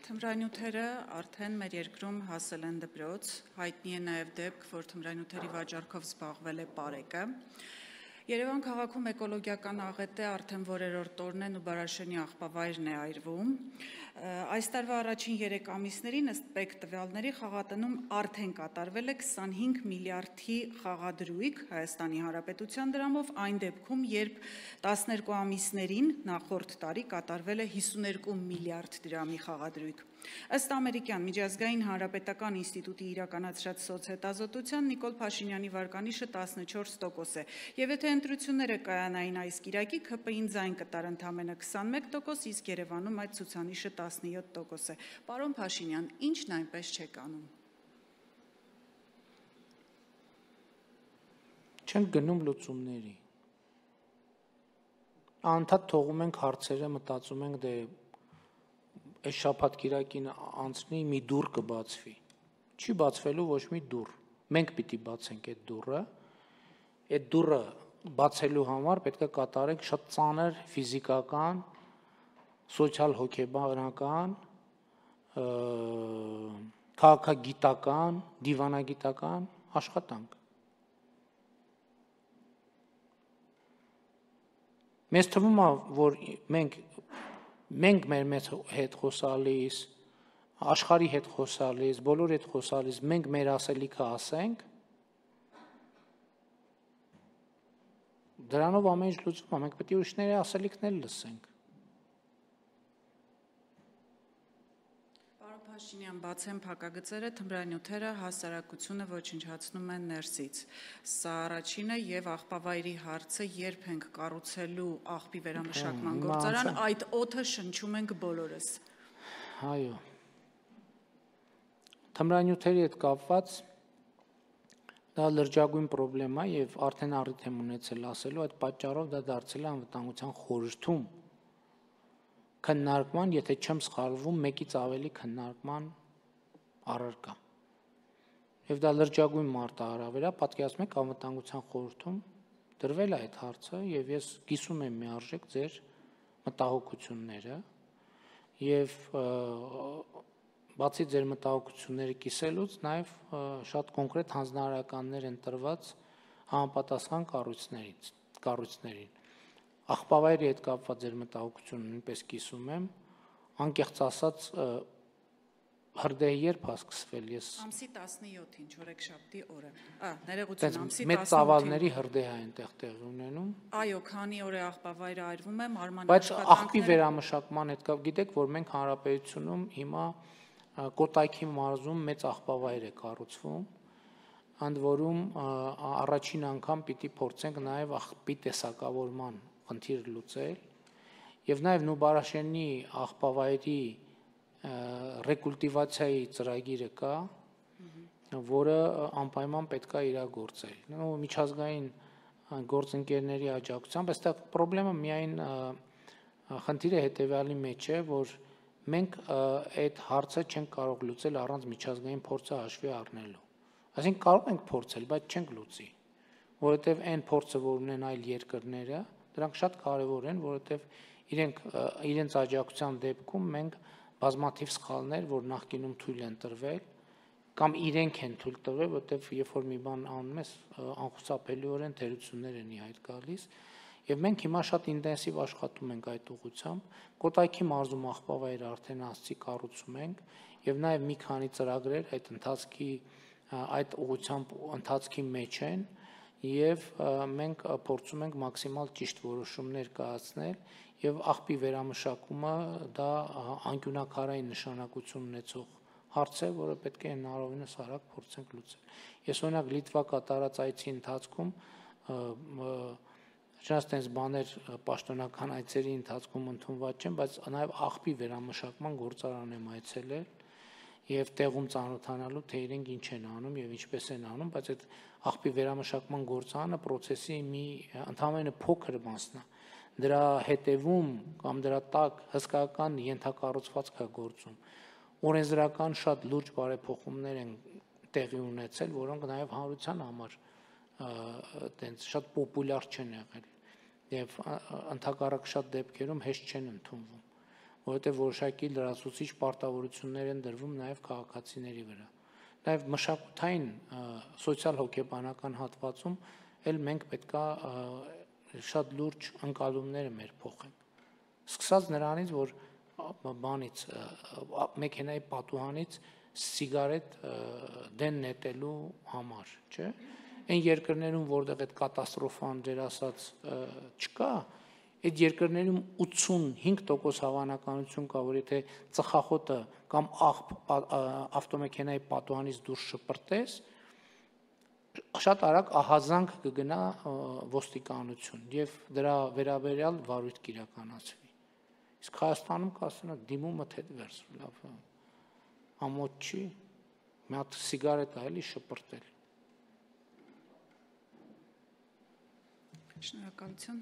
Թմրանյութերը արդեն մեր երկրում հասել են դպրոց, հայտնի է նաև դեպք, որ թմրանյութերի վաճառքով զբաղվել է Պարեկը։ Երևան քաղաքում էկոլոգիական աղետ է արդեն որերորդ օրն են ու Բարաշենի աղբավայրն է այրվում։ Այս տարվա առաջին 3 ամիսներին ըստ ՊԵԿ տվյալների խաղատնում արդեն կատարվել է 25 միլիարդի խաղադրույք Հայաստանի Հանրապետության դրամով, այն դեպքում, երբ 12 ամիսներին նախորդ տարի կատարվել է 52 միլիարդ դրամի խաղադրույք։ Ըստ ամերիկյան միջազգային հանրապետական ինստիտուտի իրականացրած սոցհետազոտության Նիկոլ Փաշինյանի վարկանիշը 14% է, եւ եթե ընտրությունները կայանային այս կիրակի, ՔՊ-ին ձայն կտար ընդամենը 21%, իսկ Երևանում այդ ցուցանիշը 17% է։ Պարոն Փաշինյան, ինչն այնպես չեք անում։ Չենք գնում լուծումների։ Անդադ թողում ենք հարցերը, մտածում ենք դե այս շաբաթ կիրակին անցնի մի դուռ կբացվի։ Չի բացվելու ոչ մի դուռ։ Մենք պիտի բացենք այդ դուռը։ Այդ դուռը բացելու համար պետք է կատարենք շատ ծանր ֆիզիկական, սոցիալ-հոգեբանական, քաղաքագիտական, դիվանագիտական աշխատանք։ Մեզ թվում է, որ մենք մեր հետ խոսալիս, աշխարհի հետ խոսալիս, բոլոր հետ խոսալիս, մենք մեր ասելիքը ասենք, դրանով ամեն ինչ լուծվում է, մենք պետք է ուրիշների ասելիքներ լսենք։ Պարոն Փաշինյան, բացեն փակագծերը, թմրանյութերը հասարակությունը ոչնչացնում են ներսից։ Սա առաջինը եւ աղբավայրի հարցը երբ ենք կառուցելու աղբի վերամշակման գործարան, այդ օդը շնչում ենք բոլորս։ Այո։ Թմրանյութերի հետ կապված դա լրջագույն պրոբլեմ է եւ արդեն առիթ եմ ունեցել ասելու, այդ պատճառով դա դարձել է անվտանգության խորհրդում քննարկման, եթե չեմ սխալվում, մեկից ավելի քննարկման առարկա։ Եվ դա լրջագույն մարտահրավեր է, պատկերացնում եք անվտանգության խորհրդում դրվել է այդ հարցը եւ ես կիսում եմ միարժեք ձեր մտահոգությունները եւ բացի ձեր մտահոգությունները կիսելուց նաեւ շատ կոնկրետ հանձնարարականներ են տրված համապատասխան կառույցներին։ Աղբավայրի հետ կապված ձեր մտահոգությունը նույնպես կիսում եմ, անկեղծ ասած հրդեհը երբ է սկսվել, ես ամսի 17-ին, չորեքշաբթի օրը։ Ներողություն, ամսի 18-ին։ Մեծ ծավալների հրդեհ է այնտեղ տեղի ունենում։ Այո, քանի օր է աղբավայրը այրվում է, մարման Բայց աղբի վերամշակման հետ կապ գիտեք, որ մենք հանրապետությունում հիմա Կոտայքի մարզում մեծ աղբավայր է կառուցվում, ընդ որում առաջին անգամ պիտի փորձենք նաև աղբի տեսակավորման խնդիրը լուծել եւ նաև Նուբարաշենի աղբավայրի ռեկուլտիվացիայի ծրագիրը կա, որը անպայման պետք է իրագործել։ Միջազգային գործընկերների աջակցությամբ, այստեղ խնդիրը միայն խնդիրը հետեւյալի մեջ է, որ մենք այդ հարցը չենք կարող լուծել առանց միջազգային փորձը հաշվի առնելու։ Այսինքն կարող ենք փորձել, բայց չենք լուծի, որովհետև այն փորձը, որ ունեն այլ երկրները, դրանք շատ կարևոր են, որովհետև իրենց աջակցության դեպքում մենք բազմաթիվ սխալներ, որ նախկինում թույլ են տրվել, կամ իրենք են թույլ տվել, որովհետև երբ որ մի բան անում ես, անխուսափելիորեն թերություններ են ի հայտ գալիս, եւ մենք հիմա շատ ինտենսիվ աշխատում ենք այդ ուղղությամբ։ Կոտայքի մարզում աղբավայրը արդեն ասացի կառուցում ենք եւ նաեւ մի քանի ծրագրեր այդ ուղղությամբ ընթացքի մեջ են եւ մենք փորձում ենք մաքսիմալ ճիշտ որոշումներ կայացնել եւ աղբի վերամշակումը դա անկյունակարային նշանակություն ունեցող հարց է, որը պետք է հնարավորինս արագ փորձենք լուծել։ Ես օրինակ Լիտվա կատարած այցի ընթացքում Չնայած տենց բաներ պաշտոնական այցերի ընթացքում ընդունված չեն, բայց նաև աղբի վերամշակման գործարան եմ այցելել եւ տեղում ծանոթանալու թե իրենք ինչ են անում եւ ինչպես են անում, բայց այդ աղբի վերամշակման գործարանը process-ի մի ընդհանրապես փոքր մասն է։ Դրա հետևում կամ դրա տակ հսկայական ենթակառուցվածք է գործում։ Օրենսդրական շատ լուրջ բարեփոխումներ են տեղի ունեցել, որոնք նաև հանրության համար այտենց շատ պոպուլյար չեն եղել եւ ընդհակառակ շատ դեպքերում հեշտ չեն ընդունվում, որովհետև որոշակի լրացուցիչ պարտավորություններ են դրվում նաև քաղաքացիների վրա։ Նաև մշակութային սոցիալ-հոգեբանական հատվածում էլ մենք պետքա շատ լուրջ ընկալումները մեր փոխենք։ Սկսած նրանից, որ բանից մեքենայի պատուհանից սիգարետ դեն նետելու համար, չէ՞։ Այն երկրներում, որտեղ այդ կատաստրոֆան դեր ասած չկա, այդ երկրներում 85% հավանականություն կա, որ եթե ծխախոտը կամ ավտոմեքենայի պատուհանից դուրս շպրտես, շատ արագ ահազանգ կգնա ոստիկանություն եւ դրա վերաբերյալ վարույթ կիրականացվի։ Իսկ Հայաստանում կասեն դիմումը թե վերս, լավ, ամոթ չի, մի հատ սիգարետ է էլի շպրտել։ Շնորհակալություն։